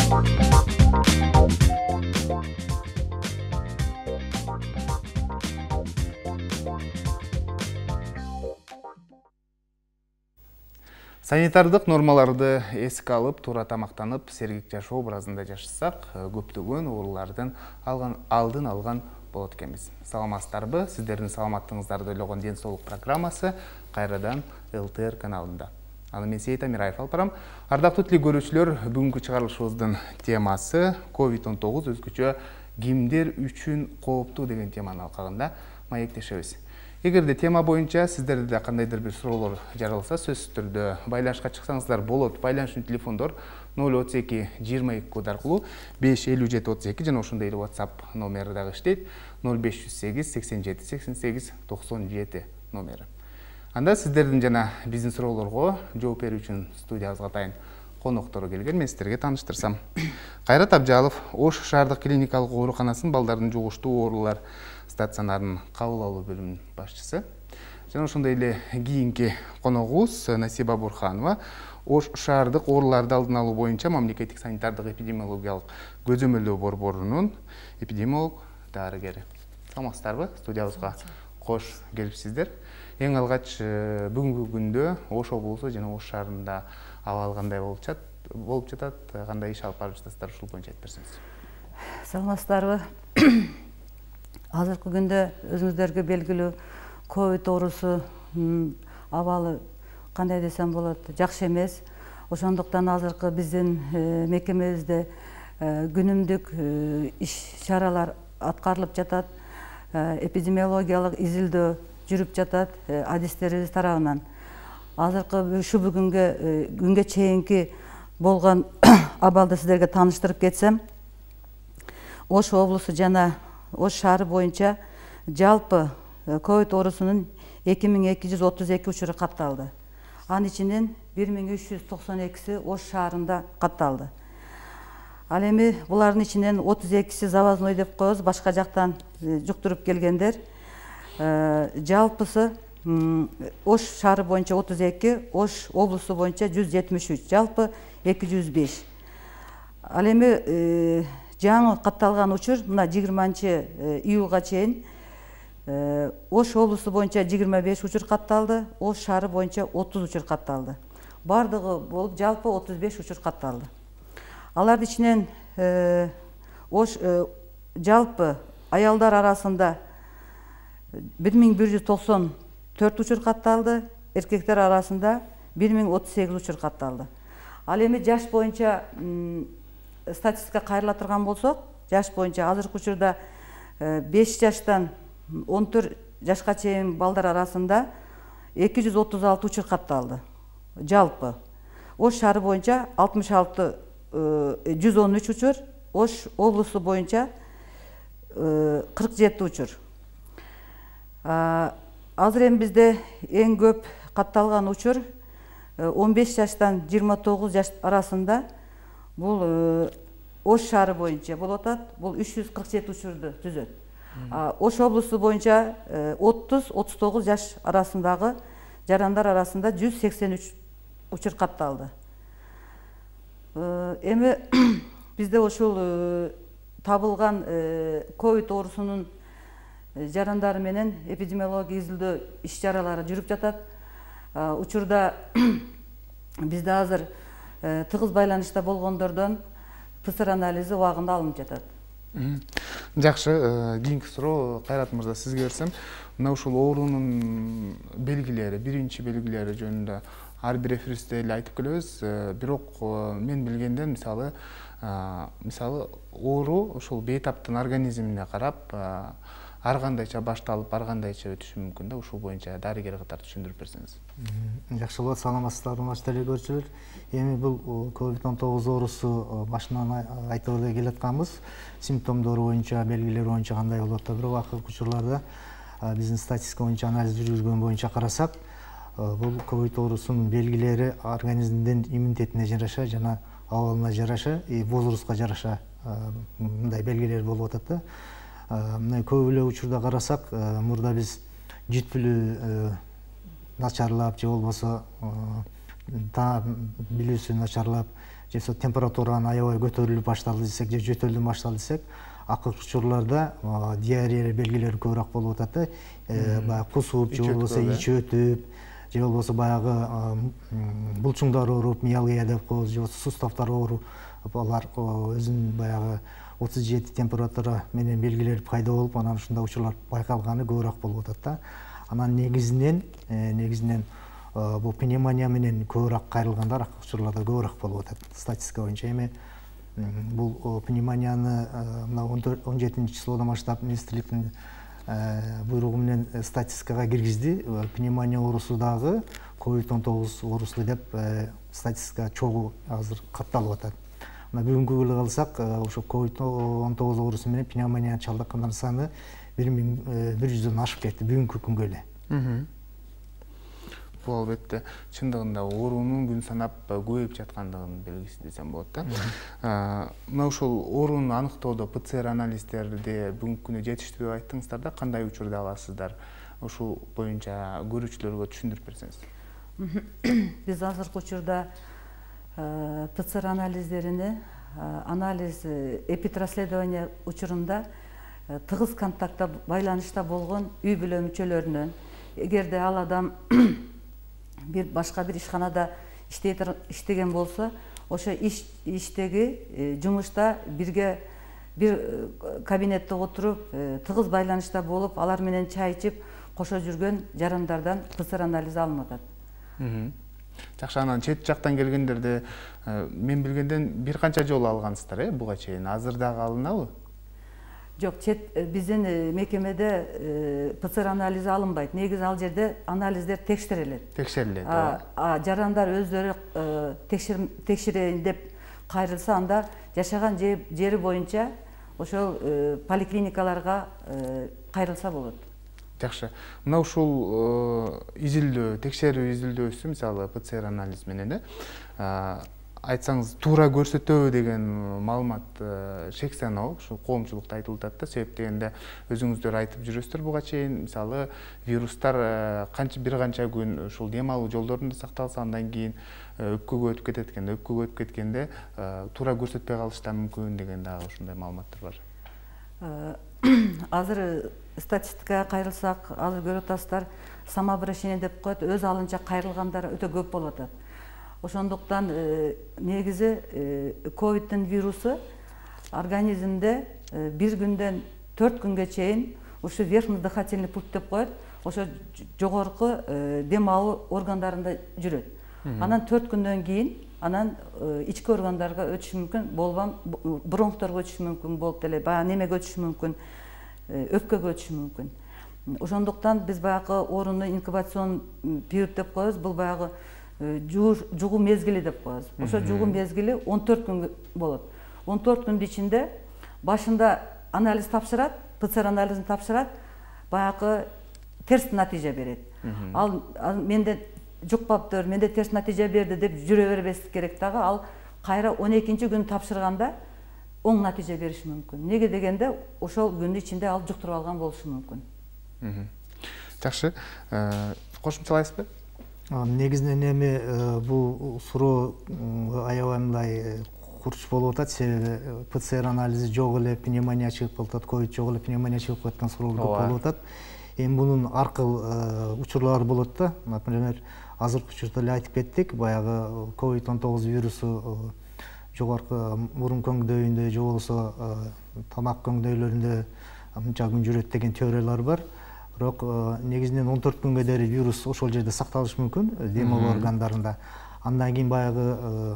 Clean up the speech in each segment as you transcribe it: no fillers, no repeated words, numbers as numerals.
Санитардык нормаларды эске алып, туура тамактанып, сергек жашоо образында жашасак, көптөгөн оорулардын алдын алган болот экенбиз. Саламатсыздарбы? Сиздердин саламаттыгыңыздарды ойлогон ден соолук программасы кайрадан ЛТР каналында. Аны мен Сейит Амираев алып барам. Ардактуу телекөрүүчүлөр, бүгүнкү чыгарылышыбыздын темасы COVID-19 өзгөчө кимдер үчүн кооптуу деген теманын алкагында маектешебиз. Эгерде тема боюнча сиздерде кандайдыр бир суроолор жаралса, сөзсүз түрдө байланышка чыксаңыздар болот. Байланыштын телефондор 032 22 код аркылуу 557 32 жана ошондой эле WhatsApp номери дагы иштейт. 0508 87 88 97 номери. Анда сиздердин жана биздин суроолорго жооп берүү үчүн студиябызга атайын коноктору келген. Мен сиздерге тааныштырсам. Кайрат Абжалов, Ош шаардык клиникалык ооруканасынын балдардын жугуштуу оорулар стационарынын кабыл алуу бөлүмүнүн башчысы. Жана ошондой эле кийинки коногубуз Насиба Бурханова, Ош шаардык ооруларды алдын алуу боюнча мамлекеттик санитардык эпидемиологиялык көзөмөлдөө борборунун эпидемиолог дарыгери. Саламатсыздарбы? Студиябызга кош келипсиздер. Эң алгач бүгүнкү күндө Ош облусу жана Ош шаарында абал кандай болуп жатат, кандай иш алып барып жатасыздар, ушул боюнча айтып берсеңиз. Саламатсыздарбы? Азыркы күндө өзүңүздөргө белгилүү ковид оорусу абалы кандай десем болот, жакшы эмес. Ошондуктан азыркы биздин мекемебизде күнүмдүк иш-чаралар аткарылып жатат, эпидемиологиялык изилдөө жүрүп жатат адистерибиз тарабынан. Азыркы ушу күнгө чейинки болгон абалды сиздерге тааныштырып кетсем, Ош облусу жана Ош шаары боюнча жалпы ковид оорусунун 2232 учуру катталды. Анын ичинен 1392си Ош шаарында катталды. Ал эми булардын ичинен 32си завозной деп коебуз, башка жактан жуктуруп келгендер. Жалпысы Ош шаары боюнча 32, Ош облусу боюнча 173, жалпы 205. Ал эми жаңы катталган учур мына 20-июлга чейин Ош облусу боюнча 25 учур катталды, Ош шаары боюнча 30 учур катталды. Бардыгы болуп жалпы 35 учур катталды. Алардын ичинен жалпы аялдар арасында 1194 учур катталды, эркектер арасында 1038 учур катталды. Ал эми жаш боюнча статистика кайрыла турган болсок, жаш боюнча азыркы учурда 5 жаштан 14 жашка чейин балдар арасында 236 учур катталды. Жалпы Ош шаары боюнча 113 учур, Ош облусу боюнча 47 учур. Азыр эми бизде эң көп катталган учур 15 жаштан 29 жаш арасында. Бул Ош шаары боюнча болуп атат. Бул 347 учурду түзөт. Ош облусу боюнча 30-39 жаш арасындагы жарандар арасында 183 учур катталды. Эми бизде ушул табылган ковид оорусунун жарандары менен эпидемиология изилдөө иш-чаралары жүрүп жатат. Учурда бизде азыр тыгыз байланышта болгондордон ПЦР анализи убагында алынып жатат. Жакшы, кийинки суроо Кайрат мырза сизге берсем, мына ушул оорунун белгилери, биринчи белгилери жөнүндө ар бир эфирибизде эле айтып келебиз. Бирок мен билгенден мисалы оору ушул бейтаптын организмине карап ар кандайча башталып, ар кандайча өтүшү мүмкүн да. Ушул боюнча дарыгер катары түшүндүрүп берсеңиз. Жакшы болот, саламатсыздарбы телекөрүүчүлөр. Эми бул COVID-19 оорусу башынан айтып эле келатканбыз. Симптомдору боюнча, белгилери боюнча кандай болуп атат. Бирок акыркы учурларда биздин статистика боюнча анализ жүргүзгөн боюнча карасак, бул COVID оорусунун белгилери организмдин иммунитетине жараша жана абалына жараша, возрастка жараша мындай белгилер болуп атат да. Мына көп эле учурда карасак, мурда биз житпилүү начарлап же болбосо билүүсү начарлап же температуранын аябай көтөрүлүп башталды десек же жөтөлдөн башталды десек, акыркы учурларда диарея белгилери көбүрөөк болуп атат баягы кусуп же болбосо ичи өтүп же болбосо баягы булчуңдар ооруп, миалгия деп коебуз, же болбосо суставдар ооруп, алар өзүнүн баягы 37 температура менен белгилери пайда болуп, анан ушундай учурлар байкалганы көбүрөөк болуп атат да. Анан негизинен бул пневмония менен көбүрөөк кайрылгандар акыркы учурларда көбүрөөк болуп атат статистика боюнча. Эми бул пневмонияны мына 17 числоодон баштап министрликтин буйругу менен статистикага киргизди. Пневмония оорусу дагы COVID-19 оорусу деп статистика чогуу азыр катталып атат. Мына бүгүнкү күнү калсак, ошо COVID-19 оорусу менен пневмонияга чалдыккандардын саны 1100дөн ашып кетти бүгүнкү күнгө эле. Бул албетте чындыгында оорунун күн санап көбөйүп жаткандыгынын белгиси десем болот да. Мына ушул ооруну аныктоодо ПЦР анализдерди бүгүнкү күнү жетиштүү деп айттыңыздар да, кандай учурда аласыздар? Ушул боюнча көрүүчүлөргө түшүндүрүп берсеңиз. Биз азыркы учурда ПЦР анализдерини анализ эпитрасследование учурунда тыгыз контактта байланышта болгон үй бүлө мүчөлөрүнөн, эгерде ал адам башка бир ишканада иштеген болсо, ошо иштеги жумушта бирге бир кабинетте отуруп, тыгыз байланышта болуп, алар менен чай ичип, кошо жүргөн жарандардан ПЦР анализи алынып атат. Жакшы, анан чет жактан келгендерди мен билгенден бир канча жолу алгансыздар, буга чейин. Азыр дагы алынабы? Жок, биздин мекемеде ПЦР анализи алынбайт. Негизи ал жерде анализдер текшерилет. Жарандар өздөрү текшерейин деп кайрылса, анда жашаган жери боюнча ошол поликлиникаларга кайрылса болот. Жакшы. Мына ушул изилдөө, текшерүү изилдөөсү, мисалы ПЦР анализ менен айтсаңыз, туура көрсөтөбү деген маалымат шек саноо ушу коомчулукта айтылып атат да. Себеп дегенде өзүңүздөр айтып жүрөсүздөр буга чейин, мисалы вирустар бир канча күн ушул дем алуу жолдорунда сакталса, андан кийин өпкөгө өтүп кетет экен. Өпкөгө өтүп кеткенде туура көрсөтпөй калышы да мүмкүн деген дагы ушундай маалыматтар бар. Азыр статистикага кайрылсак, азыр көрүп атасыздар, самообращение деп коет, өз алынча кайрылгандар өтө көп болуп атат. Ошондуктан негизи ковиддин вирусу организмде бир күндөн 4 күнгө чейин ушу верхний дыхательный путь деп коет, ошо жогорку дем алуу органдарында жүрөт. Анан 4 күндөн кийин анан ички органдарга өтүшү мүмкүн, болбом бронхторго өтүшү мүмкүн, болуп деле баягы немеге өтүшү мүмкүн, өпкөгө өтүшү мүмкүн. Ошондуктан биз баягы орунду инкубацион период деп коебуз, бул баягы жугуу мезгили деп коебуз. Ошо жугуу мезгили 14 күн болот. 14 күндүн ичинде башында анализ тапшырат, ПЦР анализин тапшырат, баягы терс натыйжа берет. Ал менде жукпаптыр, менде терс натыйжа берди деп жүрө бербестик керек дагы. Ал кайра 12-күн тапшырганда оң натыйжа бериши мүмкүн. Неге дегенде ошол күндүн ичинде ал жуктуруп алган болушу мүмкүн. Жакшы. Кошумчалайсызбы? Негизинен эми бул суроо аябай мындай курч болуп атат, себеби ПЦР анализи жок эле пневмония чыгып калат, ковид жок эле пневмония чыгып калаткан суроолор көп болуп атат. Эми мунун ар кыл учурлары болот да. Например, азыркы учурда эле айтып кеттик, баягы COVID-19 вирусу жогорку мурун көңдөйүндө же болбосо тамак көңдөйлөрүндө мынча күн жүрөт деген теориялар бар. Бирок негизинен 14 күнгө дейин вирус ошол жерде сакталышы мүмкүн, дем алуу органдарында. Андан кийин баягы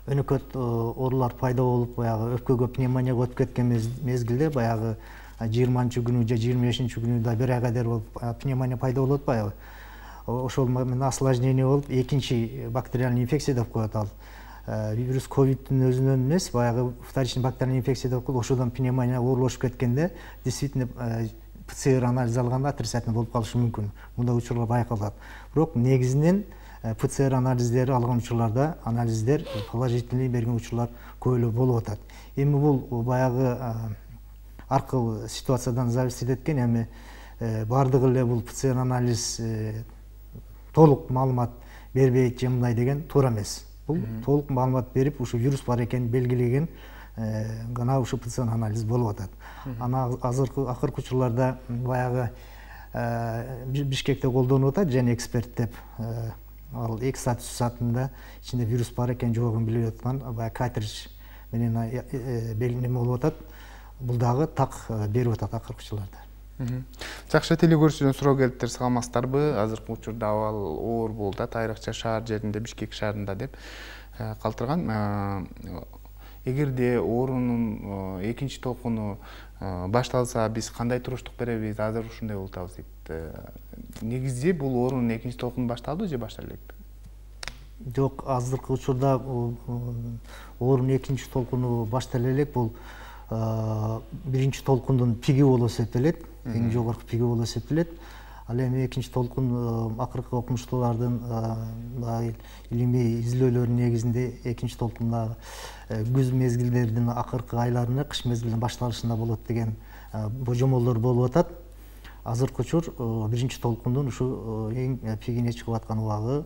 өнөкөт оорулар пайда болуп, баягы өпкөгө пневмонияга өтүп кеткен мезгилде, баягы 20-күнү же 25-күнү да бир айга дейин болуп пневмония пайда болот баягы. Ошол менен осложнение болуп, экинчи бактериальный инфекция деп коет ал. Вирус ковиддин өзүнөн эмес, баягы вторичный бактериальный инфекция деп коет. Ошодон пневмония оорлошуп кеткенде, действительно ПЦР анализ алганда отрицательный болуп калышы мүмкүн. Мындай учурлар байкалат. Бирок негизинен ПЦР анализдери алган учурларда анализдер положительный берген учурлар көп эле болуп атат. Эми бул баягы ар кыл ситуациядан зависит эткен. Эми бардыгы эле бул ПЦР анализ толук маалымат бербейт же мындай деген туура эмес. Бул толук маалымат берип, ушу вирус бар экенин белгилеген гана ушу ПЦР анализ болуп атат. Ана акыркы учурларда баягы Бишкекте колдонуп атат және эксперт деп ал 2 саат 3 саатында ичинде вирус бар экен жогун билип аткан баягы картридж менен неме болуп атат. Бул дагы так берип атат акыркы учурларда. Жакшы, телекөрүүчүдөн суроо келиптир, саламатсыздарбы? Азыркы учурда абал оор болду, айрыкча шаар жеринде, Бишкек шаарында деп калтырган. Эгерде оорунун экинчи толкуну башталса, биз кандай туруштук беребиз? Азыр ушундай болуп атабыз дейт. Негизде бул оорунун экинчи толкуну башталды же баштала элекпи? Жок, азыркы учурда оорунун экинчи толкуну баштала элек. Бул биринчи толкундун пиги болуп эсептелет, эң жогорку пиги болуп эсептелет. Ал эми экинчи толкун акыркы окумуштуулардын илимий изилдөөлөрүнүн негизинде экинчи толкун күз мезгилдеринин акыркы айларында, кыш мезгилинин башталышында болот деген божомолдор болуп атат. Азыркы учур биринчи толкундун ушу эң пигине чыгып аткан убагы,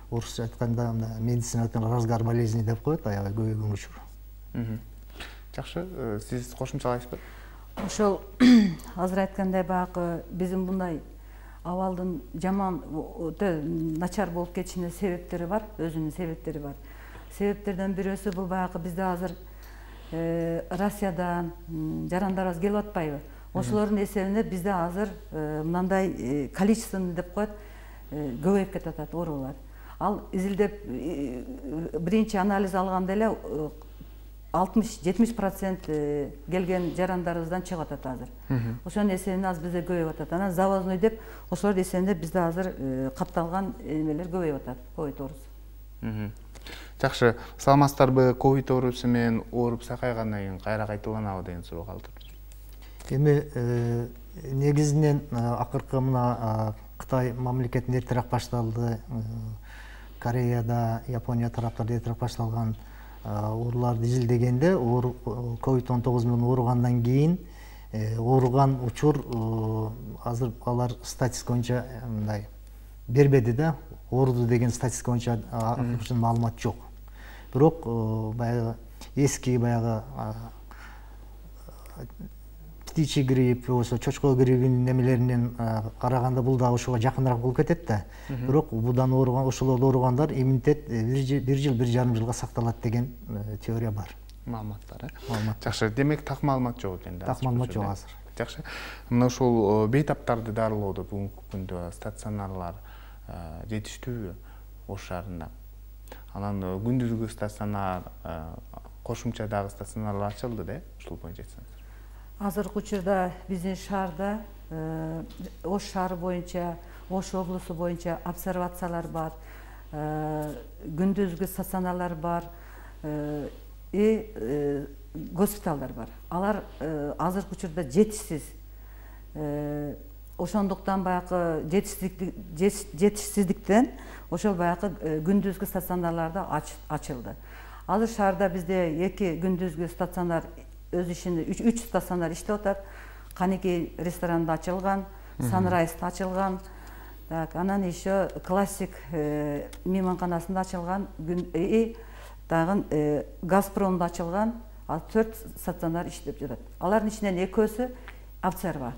орусча айтканда медицина разгар болезни деп коет, аябай көбөйгөн учур. Жакшы, сиз кошумчалайсызбы? Ошол азыр айткандай баягы биздин мындай абалдын жаман өтө начар болуп кетишине себептери бар, өзүнүн себептери бар. Себептерден бирөөсү бул баягы бизде азыр Россиядан жарандарыбыз келип атпайбы? Ошолордун эсебинде бизде азыр мындай количественно деп коет, көбөйүп кетип атат оорулар. Ал изилдеп биринчи анализ алганда эле 60-70% келген жарандарыбыздан чыгып атат азыр. Ошонун эсебинде азыр бизде көбөйүп атат. Анан завозной деп ошолордун эсебинде бизде азыр катталган эмелер көбөйүп атат, ковид оорусу. Жакшы, саламатсыздарбы? Ковид оорусу менен ооруп сакайгандан кийин кайра кайталанабы деген суроо калтыр. Эми негизинен акыркы мына Кытай мамлекетинде эртерээк башталды, Кореяда, Япония тараптарда эртерээк башталган ооруларды изилдегенде COVID-19 менен ооругандан кийин ооруган учур азыр алар статистика боюнча мындай бербеди да, ооруду деген статистика боюнча маалымат жок. Бирок баягы эски баягы птичий грипп, болсо чочко гриппинин немелеринен караганда бул да ошого жакыныраак болуп кетет да. Бирок будан ооруган, ошолордо ооругандар иммунитет 1 жыл 1,5 жылга сакталат деген теория бар. Маалыматтар, Жакшы, демек так маалымат жок экен да. Так маалымат жок азыр. Жакшы. Мына ушул бейтаптарды дарылоодо бүгүнкү күндө стационарлар жетиштүүбү Ош шаарында? Анан күндүзгү стационар, кошумча дагы стационарлар ачылды да, ушул боюнча айтсаңыз. Азыркы учурда биздин шаарда Ош шаары боюнча, Ош облусу боюнча обсервациялар бар, күндүзгү стационарлар бар и госпиталдар бар. Алар азыркы учурда жетишсиз. Ошондуктан баягы жетишсиздиктен ошол баягы күндүзгү стационарларда ачылды. Азыр шаарда бизде 2 күндүзгү стационар өз ишинде 3 стационар иштеп атат. Каникей ресторанында ачылган, Санрайзда ачылган, анан еще классик мейманканасында ачылган, дагы Газпромдо ачылган 4 стационар иштеп жатат. Алардын ичинен 2-өсү Обсерва.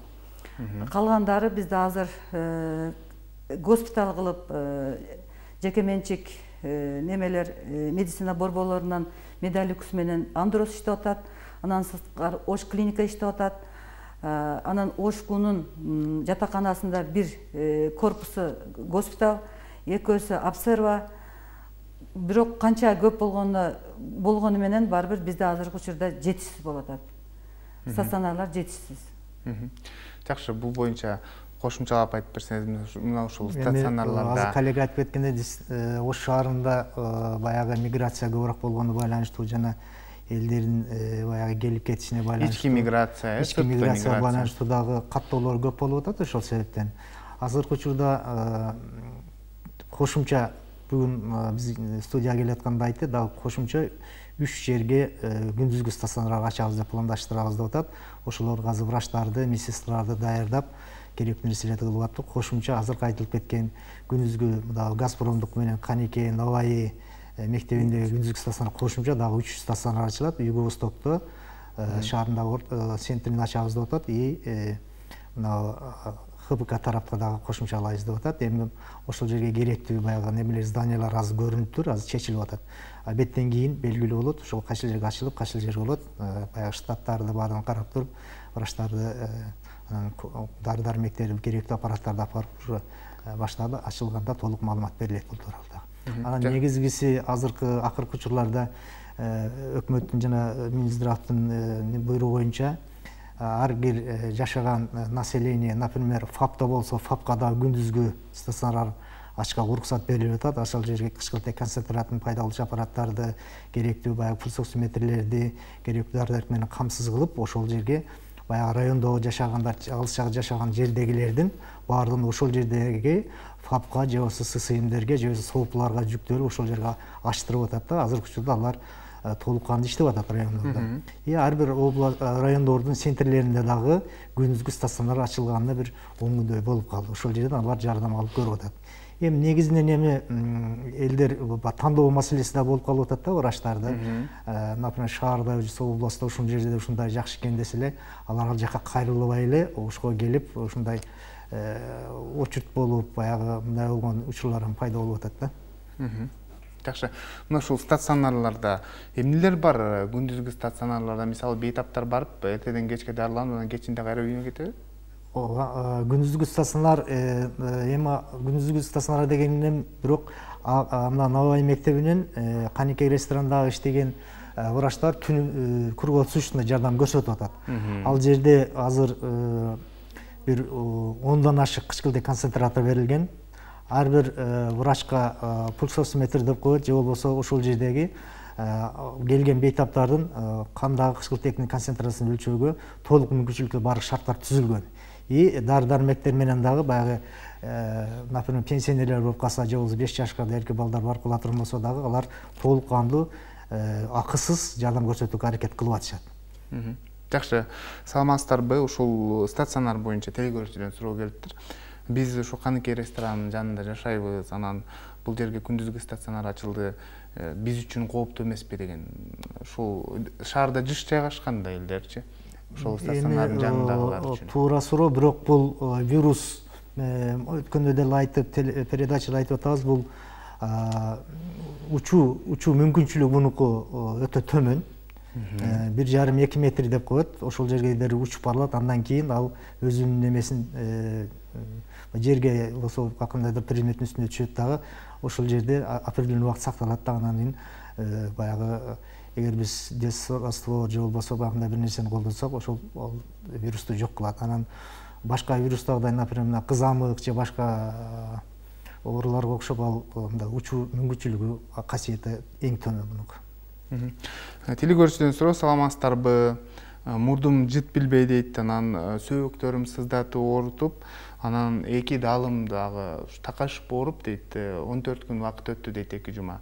Калгандары бизде азыр госпиталь кылып, жеке менчик немелер медицина борборлорунан Медалюкс менен Андрос иштеп атат. Анан сырткары Ош клиника иштеп атат. Анан Ошкунун жатаканасында 1 корпусу госпиталь, 2-өсү Обсерва. Бирок канча көп болгону менен барбир бизде азыркы учурда жетишсиз болуп атат. Стационарлар жетишсиз. Жакшы, бул боюнча кошумчалап айтып берсеңиз, мына ушул стационарларда азыр коллега айтып кеткендей, Ош шаарында баягы миграция көбүрөөк болгону байланыштуу жана элдердин баягы келип кетишине байланыштуу. Ички миграция, байланыштуу дагы каттоолор көп болуп атат ошол себептен. Азыркы учурда кошумча бүгүн биз студияга келатканда айтты, дагы кошумча 3 жерге күндүзгү стационар ачабыз деп пландаштырабыз деп атат. Ошолорго азыр врачтарды, медсестраларды даярдап, керектүү нерселерди кылып аттык. Кошумча азыркы айтылып кеткен күндүзгү дагы Газпромдук менен Канике, Новаи мектебиндеги күндүзгү стационар кошумча дагы 3 стационар ачылат. Юго-Востокто шаардагы центрин ачабыз деп атат. И мына ХПК тарапта дагы кошумчалайбыз деп атат. Эми ошол жерге керектүү баягы немелер, зданиялар азыр көрүнүптүр, азыр чечилип атат. Беттен кийин белгилүү болот, ошол кайсыл жерге ачылып, кайсыл жерге болот. Баягы штаттарды баарын карап туруп, врачтарды, дары-дармектерди, керектүү аппараттарды алып барып уже баштады, ачылганда толук маалымат берилет бул тууралуу. Анан негизгиси азыркы акыркы учурларда өкмөттүн жана Минздравдын буйругу боюнча ар бир жашаган население, например, ФАПта болсо, ФАПка да күндүзгү стационар ачканга уруксат берилип атат. Ошол жерге кычкылтек концентратын пайдалануучу аппараттарды, керектүү баягы пульсоксиметрлерди, керектүү дары-дармек менен камсыз кылып, ошол жерге баягы райондо жашаганда, алыс жашаган жердегилердин баардыгын ошол жердеги ФАПка же болбосо ССМдерге же болбосо СОУПларга жүктөлүп ошол жерге ачтырып атат да. Азыркы учурда алар толук кандуу иштеп атат райондордо. И ар бир райондордун центрлеринде дагы күндүзгү стационар ачылганына бир 10 күндөй болуп калды. Ошол жерден алар жардам алып көрүп атат. Эми негизинен элдер тандоо маселеси да болуп калып атат да, врачтарды. Например, шаарда, областта ушул жерде ушундай жакшы экен десе эле, алар ал жака кайрылбай эле ошого келип, ушундай очурт болуп, баягы мындай болгон учурлар пайда болуп атат да. Жакшы. Мына ушул стационарларда эмнелер бар? Күндүзгү стационарларда мисалы бейтаптар барып, эртеден кечке дарыланып, анан кечинде кайра үйүнө кетеби? Ооба, күндүзгү стационар, эми күндүзгү стационар дегенинен бирок мына Новаи мектебинен Канике ресторандагы иштеген врачтар түн круглосуточно жардам көрсөтүп атат. Ал жерде азыр бир 10дан ашык кычкылтек концентратор берилген. Ар бир врачка пульсоксиметр деп коет, же болбосо ошол жердеги келген бейтаптардын кандагы кычкылтектин концентрациясын өлчөөгө толук мүмкүнчүлүктөр бар шарттар түзүлгөн. И дары-дармектер менен дагы баягы, например, пенсионерлер болуп калса, же болбосо 5 жашка дейинки балдар барып кала турган болсо дагы алар толук кандуу акысыз жардам көрсөтүүгө аракет кылып атышат. Жакшы. Саламатсыздарбы? Ушул стационар боюнча телекөрүүчүдөн суроо келиптир. Биз ушу Канике ресторанынын жанында жашайбыз, анан бул жерге күндүзгү стационар ачылды. Биз үчүн кооптуу эмеспи деген. Ушул шаарда жыш жайгашкан да элдерчи. Ушул стационардын жанындагылар үчүн. Туура суроо, бирок бул вирус өткөндө деле айтып, передачада айтып атабыз, бул учуу мүмкүнчүлүгү мунуку өтө төмөн. 1,5-2 метр деп коет. Ошол жерге учуп барылат, андан кийин ал өзүнүн немесин жерге болсо кандайдыр предметтин үстүнө түшөт дагы, ошол жерде определенный убакыт сакталат да. Анан кийин баягы эгер биз дезраствор же болбосо багындай бир нерсени колдонсок, ошол вирусту жок кылат. Анан башка вирустагыдай, например, кызамык же башка ооруларга окшоп ал мындай учуу мүмкүнчүлүгү, касиети эң төмөн мунуку. Телекөрүүчүдөн суроо, саламатсыздарбы? Мурдум жыт билбей дейт, анан сөөктөрүм сыздатып оорутуп, анан 2 даалым дагы такашып ооруп дейт. 14 күн убакыт өттү дейт, 2 жума.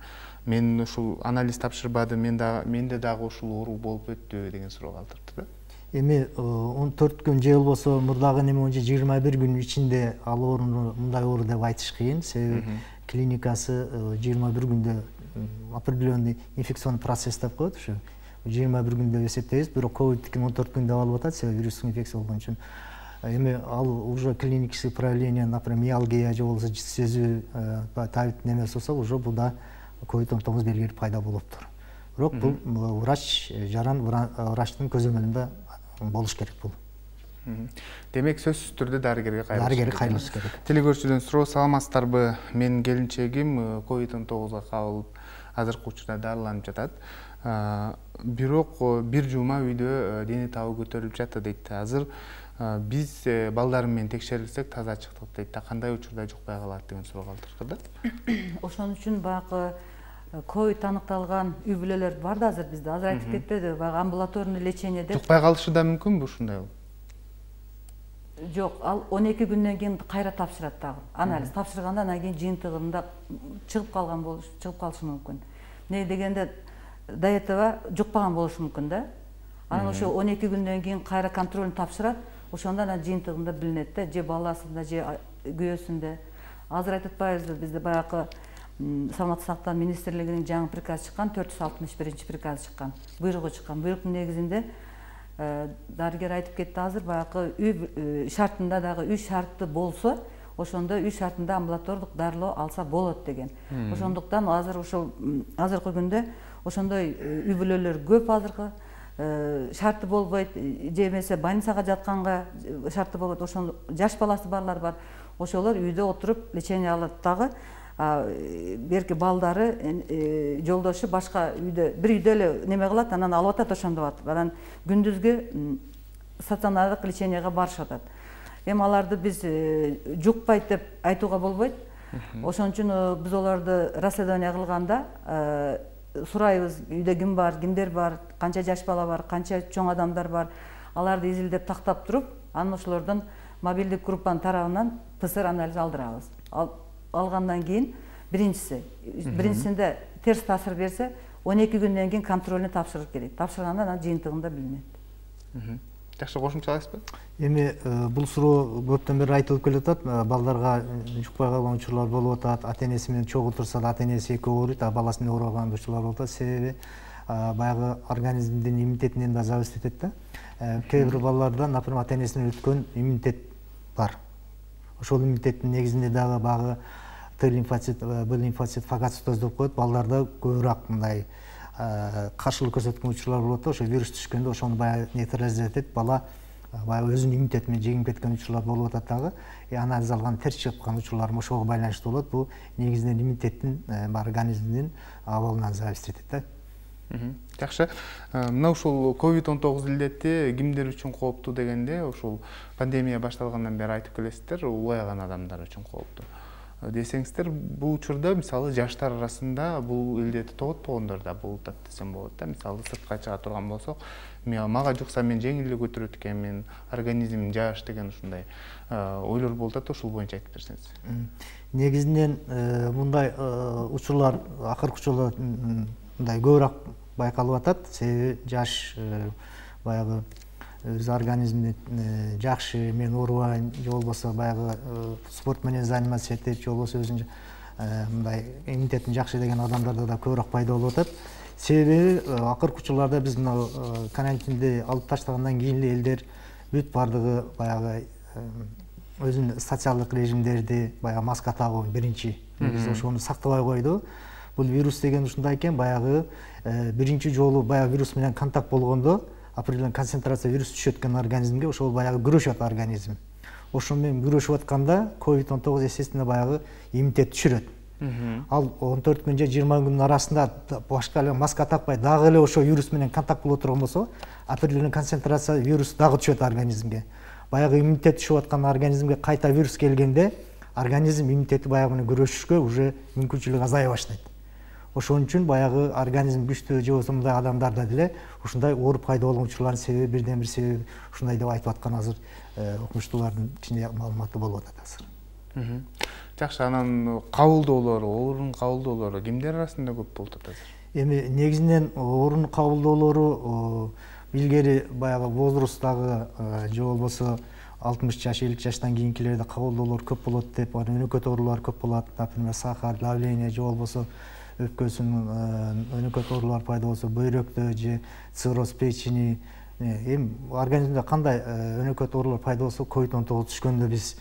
Мен ушул анализ тапшырбадым, менде дагы ушул оору болуп өттү деген суроо калтырды да. Эми 14 күн же болбосо мурдагы неме боюнча 21 күн ичинде ал ооруну мындай оору деп айтыш кыйын. Себеби клиникасы 21 күндө определенный инфекционный процесс деп коет, ушу 21 күн деп эсептейбиз. Бирок ковидтикин 14 күн деп алып атат, себеби вирустук инфекция болгон үчүн. Эми ал уже клинический проявление, например, миалгия же болбосо жыт сезүү табит немеси болсо, уже бул да ковид симптому белгилери пайда болуптур. Бирок бул врач жаран врачтын көзөмөлүндө болуш керек бул. Демек сөзсүз түрдө дарыгерге кайрылыш керек. Телекөрүүчүдөн суроо, саламатсыздарбы? Менин келинчегим ковид-19 кабылып, азыркы учурда дарыланып жатат. Бирок 1 жума үйдө дене табы көтөрүлүп жатты дейт. Азыр биз балдарым менен текшерилсек таза чыктык дейт. Кандай учурда жукпай калат деген суроо калтырды да. Ошон үчүн баягы ковид аныкталган үй бүлөлөр бар да азыр бизде. Азыр айтып кетпеди, баягы амбулаторный лечение деп. Жукпай калышы да мүмкүнбү ушундай? Жок, ал 12 күндөн кийин кайра тапшырат дагы. Анализ тапшырганда анан кийин жыйынтыгында чыгып калышы мүмкүн. Не дегенде до этого жукпаган болушу мүмкүн да. Анан ошо 12 күндөн кийин кайра контрольн тапшырат. ошондо анан жыйынтыгында билинет да, же баласында, же күйөөсүндө. Азыр айтып атпайбызбы, бизде баягы саламаттык сактоо министрлигинин жаңы приказы чыккан, 461 приказы чыккан, буйругу чыккан. Буйруктун негизинде дарыгер айтып кетти азыр, баягы үй шартында дагы үй шарты болсо, ошондо үй шартында амбулатордук дарылоо алса болот деген. Ошондуктан азыр ошол азыркы күндө ошондой үй бүлөлөр көп азыркы. Шарты болбойт, же эмесе больницага жатканга шарты болбойт. Ошондо жаш баласы барлар бар. Ошолор үйдө отуруп лечение алат дагы. Берки балдары жолдошу башка үйдө, бир үйдө эле неме кылат, анан алып атат, ошондо атат. Анан күндүзгү стационардык леченияга барышып атат. Эми аларды биз жукпайт деп айтууга болбойт. Ошон үчүн биз олорду расследование кылганда сурайбыз, үйдө ким бар, кимдер бар, канча жаш бала бар, канча чоң адамдар бар. Аларды изилдеп тактап туруп, анан ошолордон мобилдик группанын тарабынан ПЦР анализ алдырабыз. Алгандан кийин биринчисинде терс таасир берсе, 12 күндөн кийин контрольуна тапшырыш керек. Тапшырганда анан жыйынтыгында билинет. Жакшы, кошумчалайсызбы? Эми бул суроо көптөн бери айтылып келатат. Балдарга жукпай калган учурлар болуп атат. Ата-энеси менен чогуу турса да ата-энеси экөө ооруйт, баласы менен оорубаган учурлар болуп атат. Себеби баягы организмдин иммунитетинен да зависит этет да. Кээ бир балдарда, например, ата-энесинен өткөн иммунитет бар. Ошол иммунитеттин негизинде дагы багы Т лимфоцит, Б лимфоцит, фагоцитоз деп коет. Балдарда көбүрөөк мындай каршылык көрсөткөн учурлар болот. Ошо вирус түшкөндө ошону баягы нейтрализовать этип, бала баягы өзүнүн иммунитети менен жеңип кеткен учурлар болуп атат дагы. Анализ алган терс чыккан учурлар ошого байланыштуу болот. Бул негизинен иммунитеттин организмдин абалынан зависит этет да. Жакшы. Мына ушул COVID-19 илдети кимдер үчүн кооптуу дегенде, ушул пандемия башталгандан бери айтып келесиздер, улгайган адамдар үчүн кооптуу десеңиздер, бул учурда мисалы жаштар арасында бул илдети тоготпогондор да болуп атат десем болот да. Мисалы сыртка чыга турган болсок, мага жукса мен жеңил эле көтөрөт экенмин, организмим жаш деген ушундай ойлор болуп атат. Ушул боюнча айтып берсеңиз. Негизинен мындай учурлар акыркы учурларда мындай көбүрөөк байкалып атат. Себеби жаш баягы өз организмин жакшы, мен оорубайм, же болбосо баягы спорт менен заниматься этип, же болбосо өзүнүн мындай иммунитетин жакшы деген адамдарда да көбүрөөк пайда болуп атат. Себеби акыркы учурларда биз мына карантинди алып таштагандан кийин эле элдер бүт бардыгы баягы өзүнүн социалдык режимдерди, баягы маска тагуу биринчи, ошону сактабай койду. Бул вирус деген ушундай экен, баягы биринчи жолу баягы вирус менен контакт болгондо определенный концентрация вирус түшөт экен организмге, ошол баягы күрөшөт организм. Ошол менен күрөшүп атканда COVID-19 естественно баягы иммунитет түшүрөт. Ал 14 күн же 20 күндүн арасында башка эле маска такпай дагы эле ошол вирус менен контакт боло турган болсо, определенный концентрация вирус дагы түшөт организмге. Баягы иммунитет түшүп аткан организмге кайта вирус келгенде, организм иммунитети баягы менен күрөшүшкө уже мүмкүнчүлүгү азая баштайт. Ошон үчүн баягы организм күчтүү же болбосо мындай адамдарда деле ушундай ооруп пайда болгон учурлардын себеби бирден бир себеби ушундай деп айтып аткан азыр окумуштуулардын ичинде маалыматы болуп атат азыр. Жакшы, анан кабылдоолору, оорунун кабылдоолору кимдер арасында көп болуп атат азыр? Эми негизинен оорунун кабылдоолору илгери баягы возрасттагы же болбосо 60 жаш, 50 жаштан кийинкилерде кабылдоолор көп болот деп, өнөкөт оорулар көп болот, например, сахар, давление же болбосо өпкөсүнүн өнөкөт оорулар пайда болсо, бөйрөктө же цирроз печени, эми организмде кандай өнөкөт оорулар пайда болсо, COVID-19 түшкөндө биз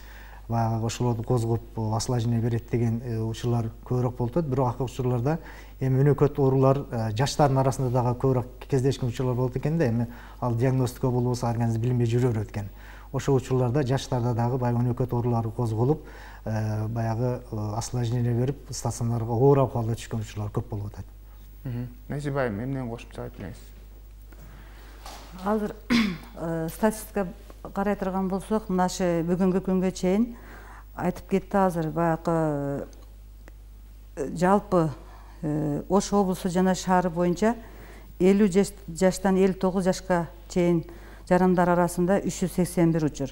баягы ошолорду козгоп осложнение берет деген учурлар көбүрөөк болуп атат. Бирок акыркы учурларда эми өнөкөт оорулар жаштардын арасында дагы көбүрөөк кездешкен учурлар болот экен да. Эми ал диагностика болбосо организм билинбей жүрө берет экен. Ошол учурларда жаштарда дагы баягы өнөкөт оорулары козголуп, баягы осложнение берип, стационарга оор абалда түшкөн учурлар көп болуп атат. Назиба айым, эмнени кошумча айтып бериңиз? Азыр статистика карай турган болсок, мынашы бүгүнкү күнгө чейин айтып кетти азыр баягы жалпы Ош облусу жана шаары боюнча 50 жаштан 59 жашка чейин жарандар арасында 381 учур.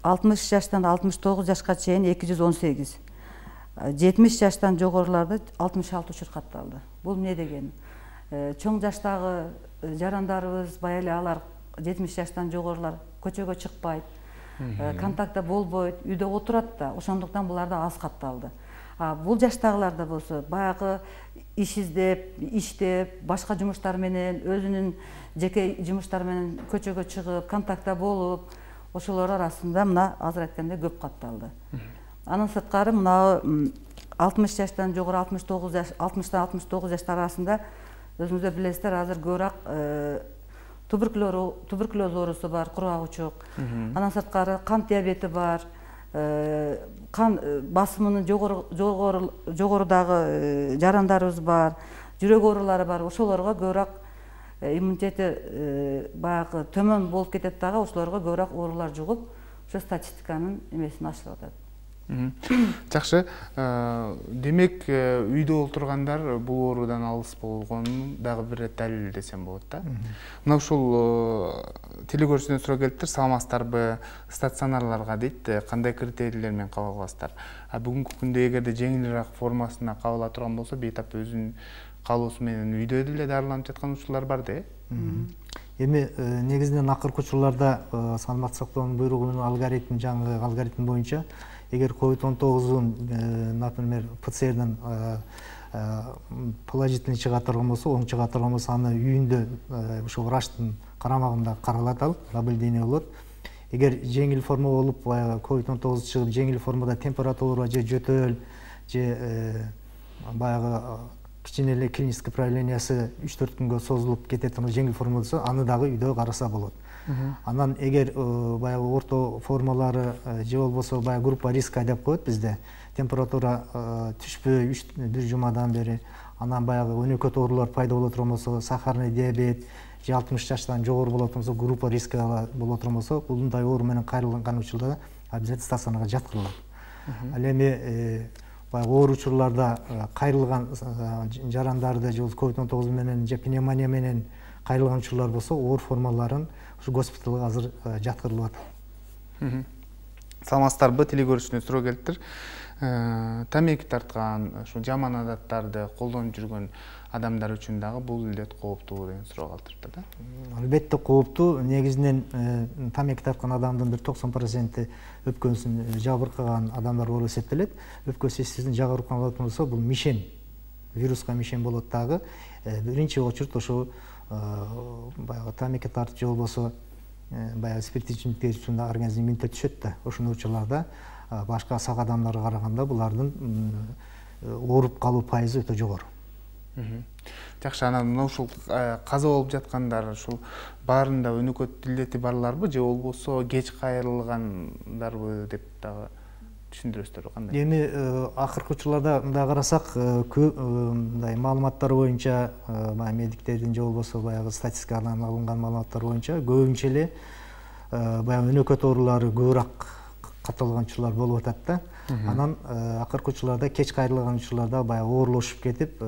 60 жаштан 69 жашка чейин 218. 70 жаштан жогоруларда 66 учур катталды. Бул эмне деген? Чоң жаштагы жарандарыбыз, бая эле алар 70 жаштан жогорулар көчөгө чыкпайт, контактта болбойт, үйдө отурат да, ошондуктан буларда аз катталды. Бул жаштагыларда болсо баягы иш издеп, иштеп, башка жумуштар менен, өзүнүн жеке жумуштары менен көчөгө чыгып, контактта болуп, ошолор арасында мына азыр айткандай көп катталды. Анын сырткары мына 60 жаштан жогору 69 жаш, 60-тан 69 жаштар арасында өзүңүздөр билесиздер, азыр көбүрөөк туберкулез оорусу бар, кургагучук. Андан сырткары кант диабети бар, кан басымынын жогорудагы жарандарыбыз бар, жүрөк оорулары бар. Ошолорго көбүрөөк иммунитети баягы төмөн болуп кетет дагы, ошолорго көбүрөөк оорулар жугуп, ошо статистиканын эмесин ашырып атат. Жакшы. Демек, үйдө отургандар бул оорудан алыс болгонун дагы бир далил десем болот да. Мына ушул телегөрүүчүдөн суроо келиптир, саламатсыздарбы, стационарларга дейт, кандай критерийлер менен кабыл аласыздар? Бүгүнкү күндө эгерде жеңилирээк формасына кабыл ала турган болсо, бейтап өзүнүн каалоосу менен үйдө деле дарыланып жаткан учурлар бар да. Эми негизинен акыркы учурларда саламаттык сактоонун буйругунун алгоритм, жаңы алгоритм боюнча эгер COVID-19 например, ПЦРден положительный чыга турган болсо, оң чыга турган болсо, аны үйүндө ошо врачтын карамагында каралат, ал наблюдение болот. Эгер жеңил форма болуп, COVID-19 чыгып, жеңил формада температура же жөтөл, же баягы кичине эле клинический проявлениясы 3-4 күнгө созулуп кетет, жеңил форма болсо, аны дагы үйдө караса болот. Анан эгер баягы орто формалары же болбосо баягы группа риска деп коет бизде, температура түшпөй бир жумадан бери, анан баягы өнөкөт оорулар пайда боло турган болсо, сахарный диабет же 60 жаштан жогору болот болсо, группа риска боло турган болсо, ушундай оору менен кайрылган учурда обязательно стационарга жаткырылат. Ал эми баягы оор учурларда кайрылган жарандарды же COVID-19 менен же пневмония менен кайрылган учурлар болсо, оор формаларын ушу госпиталга азыр жаткырылып атат. Саламатсыздарбы, телегөрүүчүдөн суроо келиптир. Тамеки тарткан, ушу жаман адаттарды колдонуп жүргөн адамдар үчүн дагы бул илдет кооптуу деген суроо калтырыптыр да. Албетте кооптуу. Негизинен тамеки тарткан адамдын бир 90% өпкөсүн жабыркаган адамдар болуп эсептелет. Өпкөсү сиздин жабыркаган болсо, бул мишен, вируска мишен болот дагы. Биринчи очурд ошо баягы тамеки тартып же болбосо баягы спирттик ичимдиктер үчүн организм иммунитет түшөт да. Ошондой учурларда башка сак адамдарга караганда булардын ооруп калуу пайызы өтө жогору. Жакшы, анан мына ушул каза болуп жаткандар ушул баарында өнөкөт илдети барларбы же болбосо кеч кайрылгандарбы деп дагы түшүндүрөсүздөрбү, кандай? Эми акыркы учурларда мындай карасак, мындай маалыматтар боюнча, медиктердин же болбосо баягы статистикадан алынган маалыматтар боюнча көбүнчө эле баягы өнөкөт оорулары көбүрөөк катталган учурлар болуп атат да. Анан акыркы учурларда кеч кайрылган учурларда баягы оорулошуп кетип,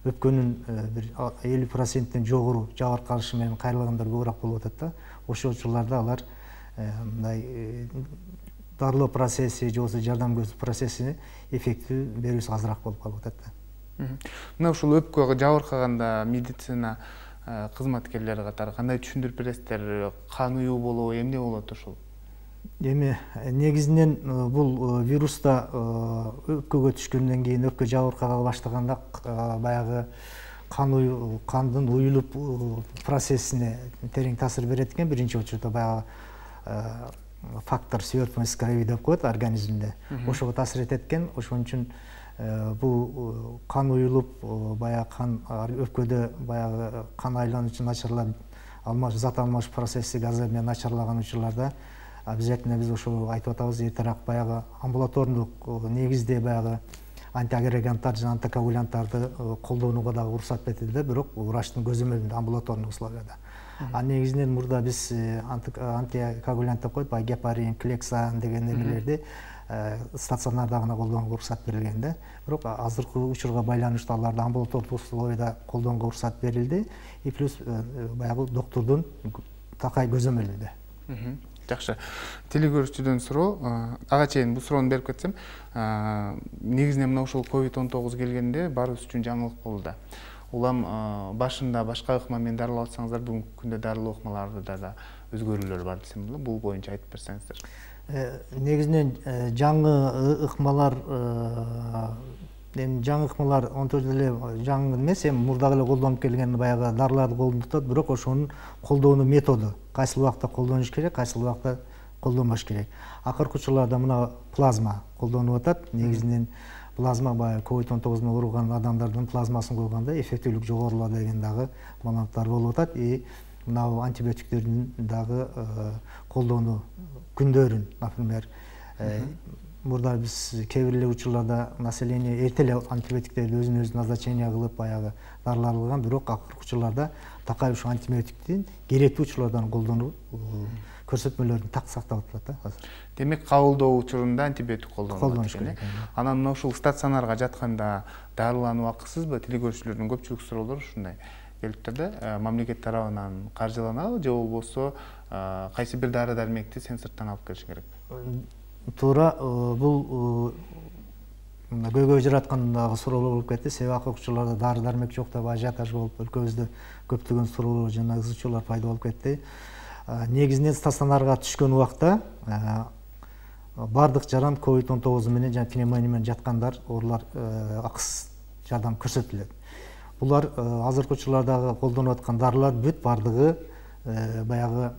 өпкөнүн бир 50%тен жогору жабыркалышы менен кайрылгандар көбүрөөк болуп атат да. Ошол учурларда алар мындай дарылоо процесси же болбосо жардам көрсөтүү процессине эффектүү берүүсү азыраак болуп калып атат да. Мына ушул өпкө жабыркаганда медицина кызматкерлери катары кандай түшүндүрүп бересиздер? Кан уюу болобу, эмне болот ушул? Эми негизинен бул вируста өпкөгө түшкөндөн кийин, өпкө жабыркага баштаганда баягы кандын уюлуп процессине терең таасир берет экен. Биринчи очурда баягы фактор свертность крови деп коет организмде. Ошого таасир этет экен. Ошон үчүн бул кан уюлуп, баягы кан өпкөдө баягы кан айлануучу начарлап, зат алмаш процесси газы менен начарлаган учурларда обязательно биз ошо айтып атабыз, эртерээк баягы амбулатордук негизде баягы антиагреганттар жана антикоагулянттарды колдонууга дагы уруксат берилди, бирок врачтын көзөмөлүндө амбулаторный условияда. Негизинен мурда биз антикоагулянт деп коет, баягы гепарин, клексан деген эмелерди стационарда гана колдонууга уруксат берилген да. Бирок азыркы учурга байланыштуу аларды амбулатордук условияда колдонууга уруксат берилди. И плюс баягы доктурдун такай көзөмөлүндө. Жакшы. Телегөрүүчүдөн суроо, ага чейин бул суроону берип кетсем, негизинен мына ушул COVID-19 келгенде баарыбыз үчүн жаңылык болду да. улам башында башка ыкма менен дарылап атсаңыздар, бүгүнкү күндө дарылоо ыкмаларда да өзгөрүүлөр бар десем болот. Бул боюнча айтып берсеңиздер. Негизинен жаңы ыкмалар жаңы ыкмалар онтойдо эле жаңы эмес, эми мурдагы эле колдонуп келген баягы дарыларды колдонуп атат, бирок ошонун колдонуу методу кайсыл убакта колдонуш керек, кайсыл убакта колдонбош керек. Акыркы учурларда мына плазма колдонуп атат. Негизинен плазма баягы COVID-19 менен ооруган адамдардын плазмасын койгондо эффективдүүлүк жогорулат деген дагы маалыматтар болуп атат. Мына антибиотиктердин дагы колдонуу күндөрүн, например, мурда биз кээ бир эле учурларда население эрте эле антибиотиктерди өзүнө назначение кылып баягы дарылар алган, бирок акыркы учурларда такай ушул антибиотиктин керектүү учурлардан колдонуу көрсөтмөлөрүн так сактап атат да азыр. Демек, кабылдоо учурунда антибиотик колдонуш керек. Анан мына ушул стационарга жатканда дарылануу акысызбы? Тили көрүүчүлөрдүн көпчүлүк суроолору ушундай келиптир да. Мамлекет тарабынан каржыланабы же болбосо кайсы бир дары дармекти сен сырттан алып келиш керек? Туура, бул көйгөй жараткан дагы суроолор болуп кетти. Себеби акыркы учурларда дары дармек жок деп ажиотаж болуп, өлкөбүздө көптөгөн суроолор жана ызычуулар пайда болуп кетти. Негизинен стационарга түшкөн убакта бардык жаран COVID-19 менен жана пневмония менен жаткандар, оорулар акысыз жардам көрсөтүлөт. Булар азыркы учурлардагы колдонуп аткан дарылар бүт бардыгы баягы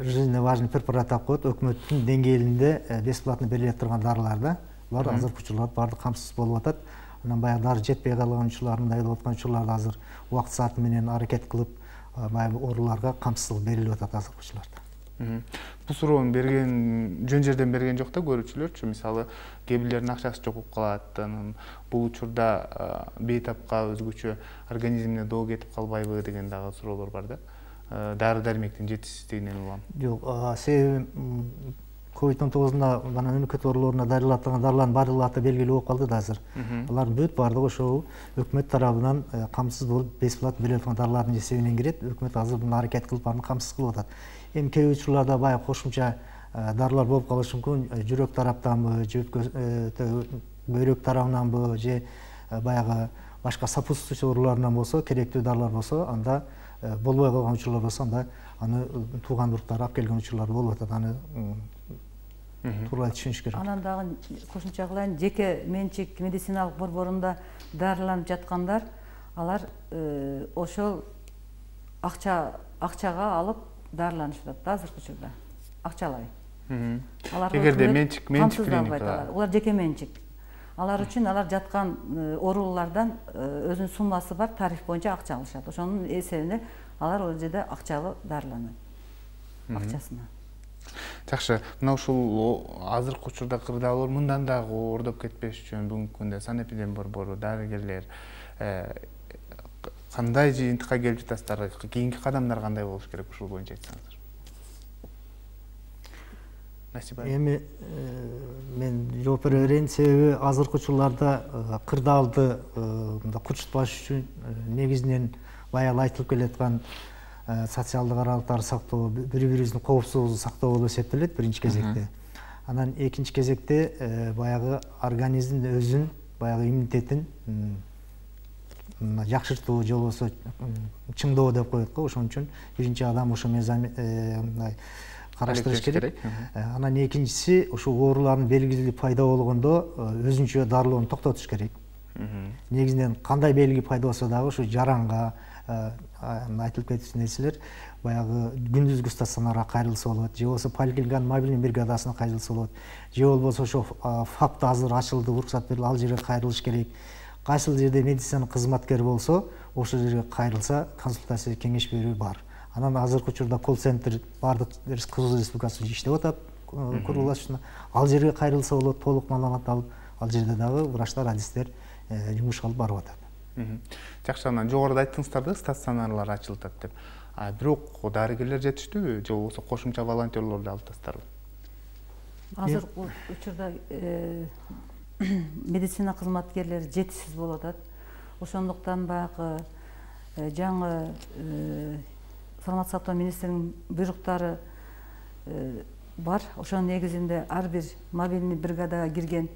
жизненно важный препарат деп коет, өкмөттүн деңгээлинде бесплатно берилип турган дарылар да. Булар азыркы учурларда бардык камсыз болуп атат. Анан баягы дары жетпей калган учурлар, мындай болуп аткан учурларда азыр убакыт сааты менен аракет кылып баягы ооруларга камсыздык берилип атат азыркы учурларда. Бул суроону берген жөн жерден берген жок да көрүүчүлөрчү. Мисалы, кээ бирлердин акчасы жок болуп калат. Бул учурда бейтапка өзгөчө организмине доо кетип калбайбы деген дагы суроолор бар да. Дары дармектин жетишсиздигинен улам. Жок, себеби COVID-19 мемлекет оорулоруна дарылатылган дарылардын баардыгы аты белгилүү болуп калды да азыр. Алардын бүт баардыгы ошол өкмөт тарабынан камсыз болуп бесплатно берилип аткан дарылардын эсебинен кирет. Өкмөт азыр буну аракет кылып аны камсыз кылып атат. Эми кээ бир учурларда баягы кошумча дарылар болуп калышы мүмкүн. Жүрөк тараптанбы, бөйрөк тарабынанбы же баягы башка сопутствующий оорулардан болсо, керектүү дарылар болсо, анда болбой калган учурлар болсо, анда аны туугандыктар алып келген учурлар болуп атат. Аны туура түшүнүш керек. Анан дагы кошумча кылайын, жеке менчик медициналык борборунда дарыланып жаткандар, алар ошол акчага алып дарыланышып атат азыркы учурда. Акчалай. Эгерде менчик клиникалар. Улар жеке менчик. Алар үчүн алар жаткан оорулардан өзүнүн суммасы бар, тариф боюнча акча алышат. Ошонун эсебине алар ол жерде акчалуу дарыланат. Акчасына. Жакшы, мына ушул азыркы учурда кырдаалар мындан дагы оордоп кетпеш үчүн бүгүнкү күндө санэпидем борбору, дарыгерлер кандай жыйынтыкка келип жатасыздар? Кийинки кадамдар кандай болуш керек ушул боюнча айтсаңыздар? Эми мен жооп бере берейин, себеби азыркы учурларда кырдаалды курчутпаш үчүн негизинен баягы айтылып келаткан социалдык аралыктарды сактоо, бири-бирибиздин коопсуздугубузду сактоо болуп эсептелет биринчи кезекте. Анан экинчи кезекте баягы организмдин өзүн, баягы иммунитетин жакшыртуу же болбосо чыңдоо деп коет го. Ошон үчүн биринчи адам ошо мындай караштырыш керек. Анан экинчиси ушул оорулардын белгилери пайда болгондо өзүнчө дарылоону токтотуш керек. Негизинен кандай белги пайда болсо дагы ушу жаранга айтылып кеткен нерселер баягы күндүзгү стационарга кайрылса болот, же болбосо поликлиниканын мобилдүү бригадасына кайрылса болот, же болбосо ошо ФАПта азыр ачылды, уруксат берилди, ал жерге кайрылыш керек. Кайсыл жерде медицина кызматкери болсо, ошол жерге кайрылса консультация, кеңеш берүү бар. Анан азыркы учурда колл-центр бардык Кыргыз Республикасында иштеп атат, курулушуна. Ал жерге кайрылса болот, толук маалымат алып, ал жерде дагы врачтар, адистер жумуш алып барып атат. Жакшы, анан жогоруда айттыңыздар да, стационарлар ачылып атат деп. Бирок дарыгерлер жетиштүүбү же болбосо кошумча волонтерлорду алып атасыздарбы? Азыркы учурда медицина кызматкерлери жетишсиз болуп атат. Ошондуктан баягы жаңы саламаттык сактоо министринин буйруктары бар. Ошонун негизинде ар бир мобилдүү бригадага кирген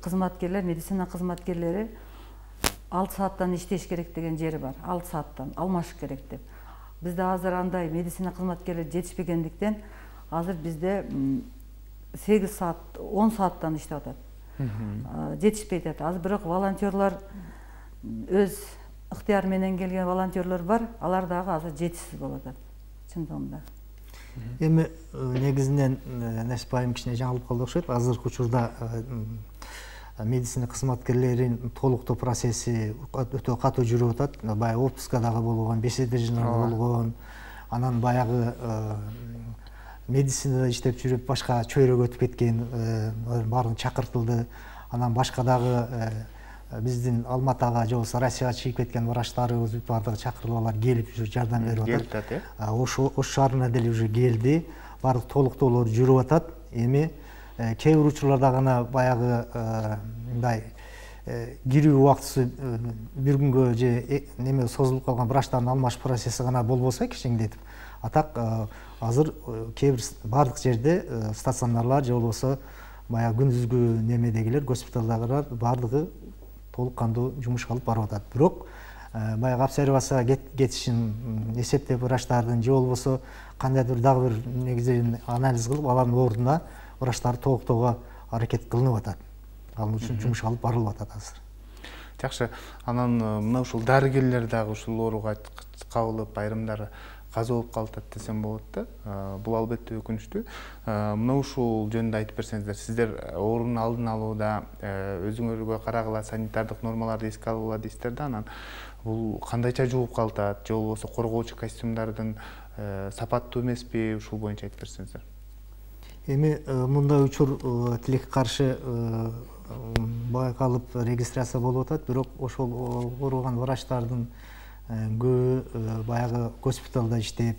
кызматкерлер, медицина кызматкерлери 6 сааттан иштеш керек деген жери бар. 6 сааттан алмашыш керек деп. Бизде азыр андай медицина кызматкерлери жетишпегендиктен азыр бизде 8 саат, 10 сааттан иштеп атат. Жетишпей атат. Азыр бирок волонтерлар өз ыктыяры менен келген волонтерлор бар. Алар дагы азыр жетишсиз болуп атат. Чындыгында. Эми негизинен Насипайым кичине жаңылып калды окшойт. Азыркы учурда медицина кызматкерлеринин толуктоо процесси өтө катуу жүрүп атат. Баягы отпускадагы болгон, беседежларда болгон, анан баягы медицинада иштеп жүрүп башка чөйрөгө өтүп кеткен баарын чакыртылды. Анан башка дагы биздин Алматага же болбосо Россияга чыгып кеткен врачтарыбыз баардыгы чакырылып алар келип уже жардам берип атат. Ош шаарына деле уже келди. Баардык толуктоолор жүрүп атат. Эми кээ бир учурларда гана баягы мындай кирүү убактысы бир күнгө же неме созулуп калган врачтардын алмашуу процесси гана болбосо кичиңдетип. А так азыр кээ бир баардык жерде стационарлар же болбосо баягы күндүзгү немедегилер, госпиталдагылар баардыгы толук кандуу жумушка алып барып атат. Бирок баягы обсервацияга кетишин эсептеп врачтардын же болбосо кандайдыр дагы бир негизинен анализ кылып алардын ордуна врачтарды толуктоого аракет кылынып атат. Ал үчүн жумушка алып барылып атат азыр. Жакшы. Анан мына ушул дарыгерлер дагы ушул ооруга кабылып, айрымдары каза болуп калат десем болот да. Бул албетте өкүнүчтүү. Мына ушул жөнүндө айтып берсеңиздер, сиздер оорунун алдын алууда өзүңөргө карагыла санитардык нормаларды эске алгыла дейсиздер да. Анан бул кандайча жууп калат же болбосо коргоочу костюмдардын сапаттуу эмеспи? Ушул боюнча айтып берсеңиздер. Эми мындай учур тилекке каршы байкалып регистрация болуп атат, бирок ошол ооруган врачтардын көбү баягы госпиталда иштеп,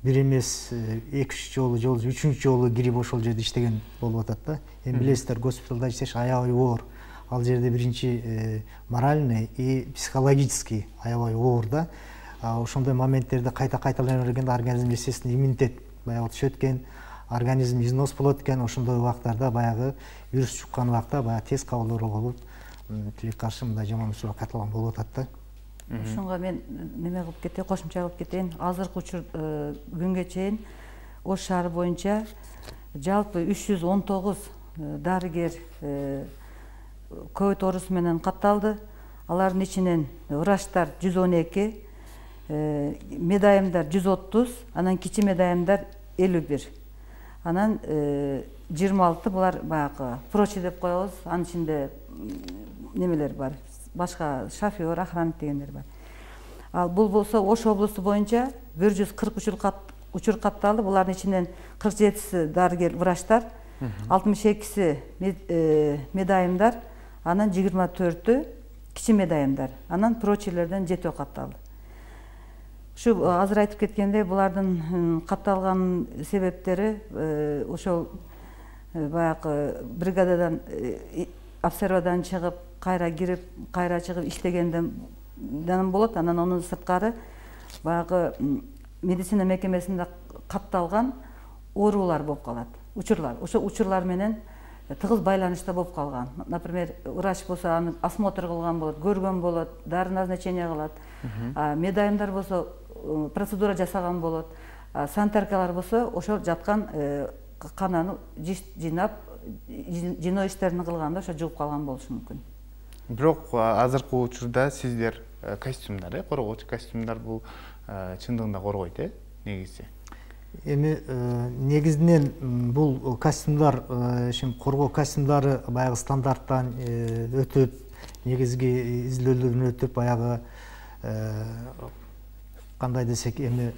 бир эмес 2-3 жолу же 3-үнчү жолу кирип ошол жерде иштеген болуп атат да. Эми билесиздер, госпиталда иштеш аябай оор. Ал жерде биринчи моральный и психологический аябай оор да. Ошондой моменттерде кайта-кайталана бергенде организм естественно иммунитет баягы түшөт экен, организм износ болот экен. Ошондой убактарда баягы вирус чуккан убакта баягы тез кабылдоо болуп, тилекке каршы мындай жаман учурга кайталган болуп атат да. Ошонго мен неме кылып кетейин, кошумча кылып кетейин. Азыркы учур күнгө чейин Ош шаары боюнча жалпы 319 дарыгер ковид оорусу менен катталды. Алардын ичинен врачтар 112, медайымдар 130, анан кичи медайымдар 51. Анан 26 булар баягы прочий деп коебуз. Анын ичинде немелер бар. Башка шофер, охранник дегендер бар. Ал бул болсо Ош облусу боюнча 140 учур катталды. Булардын ичинен 47си дарыгер врачтар, 62си медайымдар, анан 24-ü кичи медайымдар, анан прочийлерден 7 катталды. Ушу азыр айтып кеткендей, булардын катталган себептери ошол баягы бригададан обсервадан чыгып, кайра кирип, кайра чыгып иштегенден болот. Анан анын сырткары баягы медицина мекемесинде катталган оорулар болуп калат. Учурлар. Ошо учурлар менен тыгыз байланышта болуп калган. Например, врач болсо аны осмотр кылган болот, көргөн болот, дары назначение кылат. Медайымдар болсо процедура жасаган болот. Санитаркалар болсо ошол жаткан кананы жыйнап, жиноо иштерин кылганда ошо жугуп калган болушу мүмкүн. Бирок азыркы учурда сиздер костюмдар, коргоочу костюмдар бул чындыгында коргойт, негизи. Эми негизинен бул костюмдар, коргоо костюмдары баягы стандарттан өтүп, негизги изилдөөлөрдөн өтүп, баягы кандай десек, эми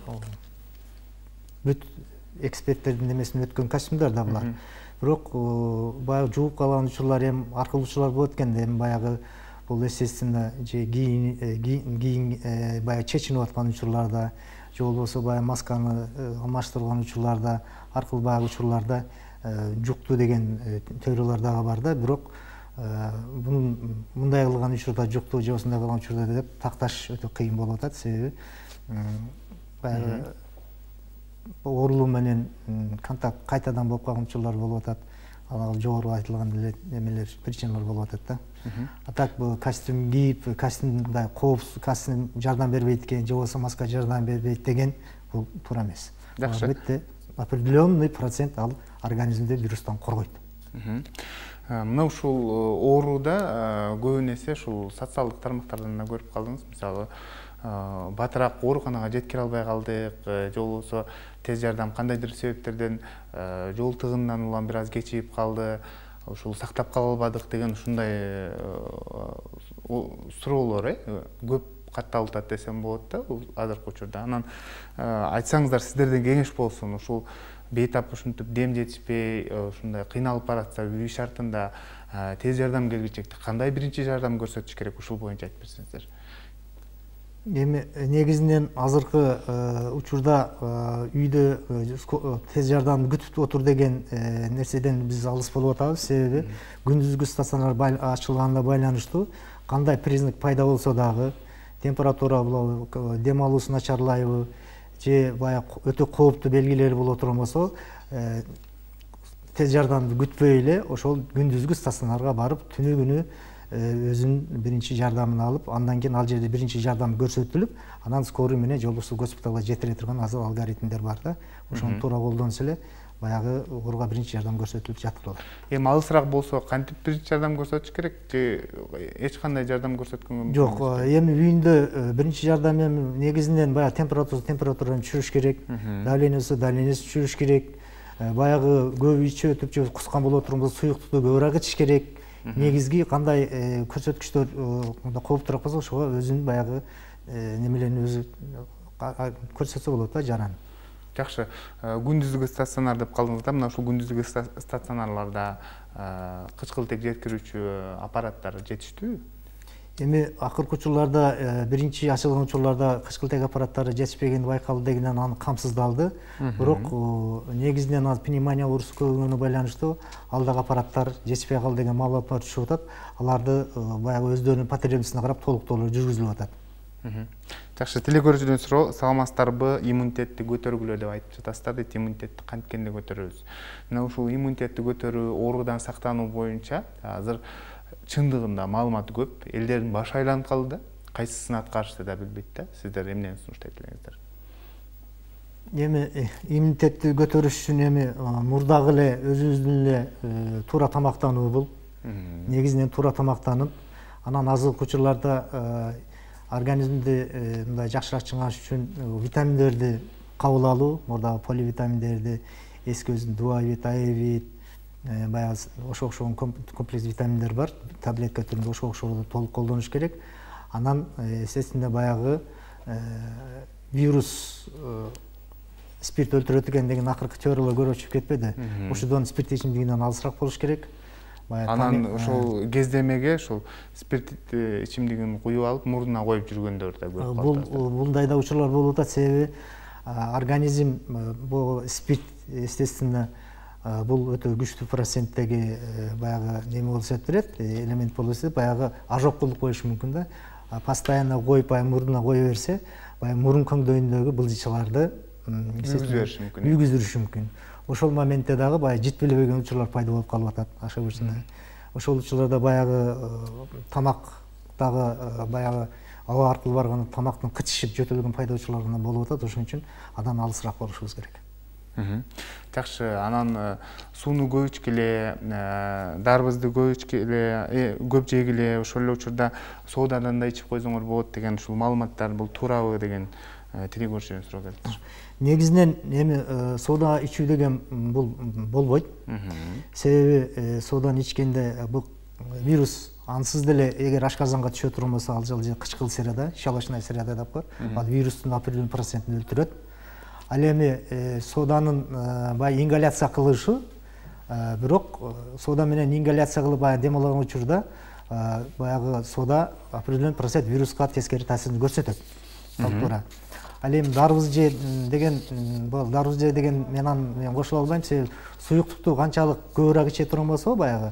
бүт эксперттердин немесинен өткөн костюмдар да булар. Бирок баягы жууп калган учурлар, эми аркылуучулар болот экен да, эми баягы бул естественно же кийин баягы чечинип аткан учурларда, же болбосо баягы масканы алмаштырган учурларда, аркылуу баягы учурларда жукту деген теориялар дагы бар да. Бирок мындай кылган учурда жукту же осундай кылган учурда деп такташ өтө кыйын болуп атат. Себеби баягы оорулуу менен контакт кайтадан болуп калган учурлар болуп атат. Ал жогору айтылган эле немелер, причиналар болуп атат да. А так бул костюм кийип, костюмда коопсуз костюм жардам бербейт экен, же болбосо маска жардам бербейт деген бул туура эмес. Жакшы. Албетте определенный процент ал организмди вирустан коргойт. Мына ушул ооруда көбүн эсе ушул социалдык тармактардан да көрүп калдыңыз. Мисалы, батыраак ооруканага жеткире албай калдык, же болбосо тез жардам кандайдыр себептерден жол тыгынынан улам бир аз кечигип калды, ушул сактап кала албадык деген ушундай суроолор көп катталып атат десем болот да азыркы учурда. Анан айтсаңыздар, сиздерден кеңеш болсун, ушул бейтап ушинтип дем жетишпей, ушундай кыйналып баратса үй шартында тез жардам келгичекте кандай биринчи жардам көрсөтүш керек, ушул боюнча айтып берсеңиздер. Эми негизинен азыркы учурда үйдө тез жардамды күтүп отур деген нерседен биз алыс болуп атабыз. Себеби күндүзгү стационар ачылганына байланыштуу кандай признак пайда болсо дагы, температура болобу, дем алуусу начарлайбы, же баягы өтө кооптуу белгилери боло турган болсо, тез жардамды күтпөй эле ошол күндүзгү стационарга барып, түнү күнү өзүнүн биринчи жардамын алып, андан кийин ал жерде биринчи жардам көрсөтүлүп, анан скорый менен же болбосо госпиталга жетире турган азыр алгоритмдер бар да. Ошону туура колдонсо эле баягы ооруга биринчи жардам көрсөтүлүп жатып калат. Эми алысыраак болсо кантип биринчи жардам көрсөтүш керек же эч кандай жардам көрсөткөнгө? Жок, эми үйүндө биринчи жардам эми негизинен баягы температураны түшүрүш керек, давлениесин түшүрүш керек, баягы көп ичип өтүп же кускан боло турган болсо суюктукту көбүрөөк ичиш керек. Негизги кандай көрсөткүчтөр кооптуураак болсо ошого өзүнүн баягы немелерин өзү көрсөтсө болот да, жаран. Жакшы. Күндүзгү стационар деп калдыңыздар. Мына ушул күндүзгү стационарларда кычкылтек жеткирүүчү аппараттар жетиштүүбү? Эми акыркы учурларда биринчи ачылган учурларда кычкылтек аппараттары жетишпегени байкалды дегенден аны камсыздалды. Бирок негизинен ал пневмония оорусу көбөйгөнүнө байланыштуу ал дагы аппараттар жетишпей калды деген маалыматтар түшүп атат. Аларды баягы өздөрүнүн потребностуна карап толуктоолор жүргүзүлүп атат. Жакшы, телекөрүүчүдөн суроо, саламатсыздарбы, иммунитетти көтөргүлө деп айтып жатасыздар дейт. Иммунитетти канткенде көтөрөбүз? Мына ушул иммунитетти көтөрүү, оорудан сактануу боюнча азыр чындыгында маалымат көп. Элдердин башы айланып калды да. Кайсысын аткарышты да билбейт да. Сиздер эмнени сунуштайт элеңиздер? Эми иммунитетти көтөрүш үчүн эми мурдагы эле өзүбүздүн эле туура тамактануу бул. Негизинен туура тамактанып, анан азыркы учурларда организмди мындай жакшыраак чыңгаш үчүн витаминдерди кабыл алуу, мурдагы поливитаминдерди, эски өзүнүн дуавит, аевит, баягы ошо окшогон комплекс витаминдер бар, таблетка түрүндө ошо окшогон толук колдонуш керек. Анан естественно баягы вирус спирт өлтүрөт экен деген акыркы теориялар көрүп чыгып кетпеди. Ошодон спирт ичимдигинен алысыраак болуш керек. Анан ошол кездемеге ошол спирт ичимдигин куюп алып, мурдуна коюп жүргөндөр да көрүп калдык. Бундай да учурлар болуп атат, себеби организм бул спирт естественно бул өтө күчтүү проценттеги баягы неме болуп эсептелет, элемент болуп эсептелет, баягы ожог кылып коюшу мүмкүн да. Постоянно коюп мурдуна кое берсе, баягы мурун көңдөйүндөгү былжычаларды үйгүздүрүшү мүмкүн. Ошол моментте дагы баягы жетпелебеген учурлар пайда болуп калып атат ошол ошол учурларда баягы тамактагы баягы аба аркылуу барган тамактын кычышып жөтөлгөн пайда учурлар гана болуп атат. Ошон үчүн андан алысыраак болушубуз керек. Жакшы, анан сууну көп ичкиле, дарбызды көп ичкиле, көп жегиле, ошол эле учурда соодадан да ичип койсоңор болот деген ушул маалыматтар бул туурабы деген телекөрүүчүдөн суроо келиптир. Негизинен эми соода ичүү деген бул болбойт. Себеби сооданы ичкенде бул вирус ансыз деле эгер ашказанга түшө турган болсо, ал же кычкыл сырада, щелочная сырада деп коет. Ал вирустун определенный процентин өлтүрөт. Ал эми сооданын баягы ингаляция кылышы, бирок соода менен ингаляция кылып баягы дем алган учурда баягы соода определенный процент вируска тескери таасирин көрсөтөт. Туура. Ал эми дарбыз же деген мен кошула албайм, себеби суюктукту канчалык көбүрөөк иче турган болсо, баягы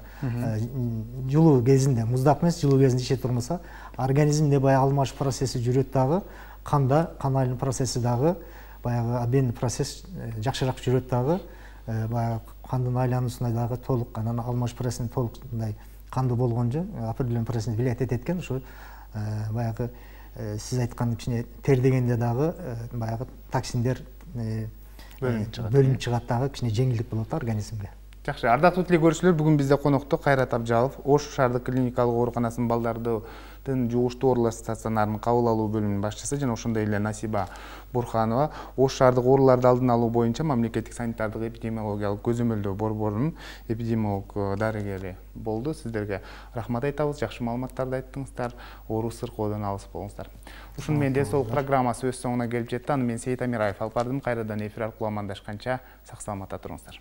жылуу кезинде, муздак эмес, жылуу кезинде иче турган болсо, организмде баягы алмашуу процесси жүрөт дагы, канда кан айлануу процесси дагы, баягы обменный процесс жакшыраак жүрөт дагы, баягы кандын айлануусуна дагы толук, анан алмашуу процессин толук мындай кандуу болгонжо определенный процент влиять этет экен. Ошо баягы сиз айткан кичине тер дегенде дагы баягы токсиндер бөлүнүп чыгат дагы, кичине жеңилдик болот организмге. Жакшы, ардактуу телекөрүүчүлөр, бүгүн бизде конокто Кайрат Абжалов, Ош шаардык клиникалык ооруканасынын балдардын жугуштуу оорулар стационарынын кабыл алуу бөлүмүнүн башчысы жана ошондой эле Насиба Бурханова, Ош шаардык ооруларды алдын алуу боюнча мамлекеттик санитардык эпидемиологиялык көзөмөлдөө борборунун эпидемиолог дарыгери болду. Сиздерге рахмат айтабыз, жакшы маалыматтарды айттыңыздар, оору сыркоодон алыс болуңуздар. Ушуну менен де сол программасы өз соңуна келип жетти. Аны мен Сейит Амираев алып бардым. Кайрадан эфир аркылуу амандашканча сак саламатта туруңуздар.